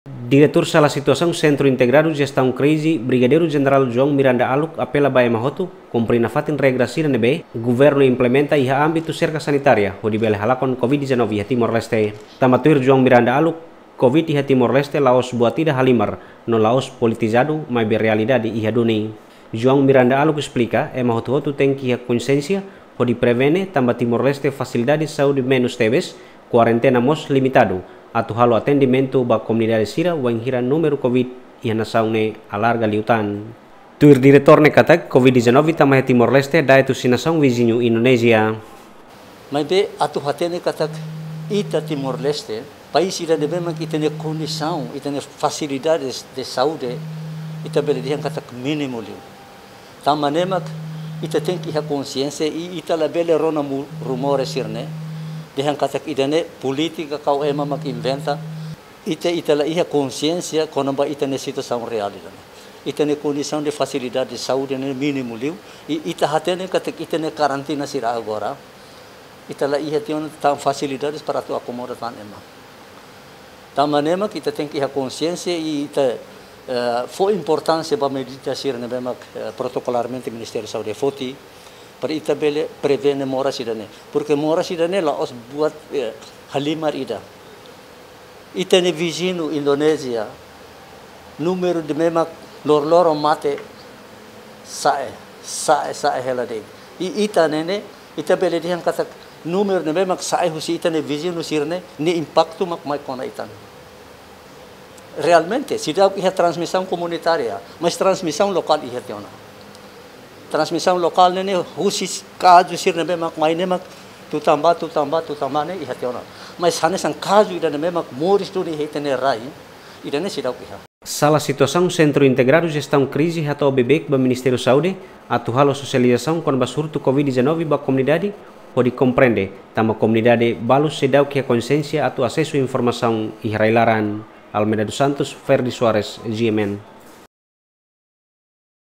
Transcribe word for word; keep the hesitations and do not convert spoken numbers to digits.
Diretór Sala Situasaun Sentru Integradu Jestaun Krize, Brigadeiru Jenerál João Miranda Aluk, apela ba ema hotu kumpre nafatin regra sira ne'ebé governu implementa iha ámbitu serka sanitária hodi bele halakon Covid dezanove iha Timor-Leste. Tanba tuir João Miranda Aluk, Covid iha Timor-Leste la'ós buat ida halimar no la'ós politizadu, maibé realidade iha duni. João Miranda Aluk esplika, ema hotu-hotu tenke iha konsiénsia hodi prevene, tanba Timor-Leste fasilidade saúde menus tebes, kuarentena mós limitadu, atu halo atendimentu ba komunidade sira wainhira númeru Covid iha nasaun ne'e alarga liután. Tuir diretór ne'e katak, Covid dezanove tama iha Timor-Leste da'et husi nasaun viziñu Indonézia. Maibé atu hatene katak ita Timor-Leste, país ida ne'ebé mak ita-nia kondisaun, ita-nia fasilidades de saúde, ita bele dehan katak mínimu liu. Tanba ne'e mak ita tenke iha konsiénsia i ita labele rona mu-, rumores sira-ne'e, dehan katak ida-ne'e polítika ka ema mak inventa, ita, ita la iha konsiénsia kona-ba ita-nia situasaun reál ida-ne'e. Ita-nia kondisaun de fasilidade de saúde ne'e mínimu liu, i ita hatene katak ita-nia karantina sira agora, ita la iha tiha ona tan fasilidades para atu akomoda tan ema. Tanba ne'e mak ita tenke iha konsiénsia i ita, eh, fó importánsia ba medida sira ne'ebé mak, eh, protokolarmente Ministériu Saúde foti, para ita bele prevene moras ida-ne'e. Porque moras ida-ne'e la'ós buat, eh, halimar ida. Ita-nia viziñu Indonézia, númeru ne'ebé mak loroloron mate sa'e, sa'e, sa'e hela de'it. I ita ne'e ne'e, ita bele dehan katak númeru ne'ebé mak sa'e husi ita-nia viziñu sira-ne'e, nia impaktu mak mai kona ita-nian. Realmente, seidauk iha transmisaun komunitária, mas transmisaun lokál iha tiha ona. Transmisaun lokál ne'e ne'e husi kazu sira ne'ebé mak mai ne'e mak tutan ba, tutan ba, tutan ba ne'e iha tiha ona. Mas hanesan kazu ida ne'ebé mak moris duni iha ita-nia rai, ida-ne'e seidauk iha. Sala Situasaun Sentru Integradu Jestaun Krize hato'o beibeik ba Ministériu Saúde atu halo sosializasaun kona-ba surtu Covid dezanove ba komunidade hodi komprende, tanba komunidade balu seidauk iha konsiénsia atu asesu informasaun iha rai-laran. Almeida dos Santos, Ferdi Soares, G M N.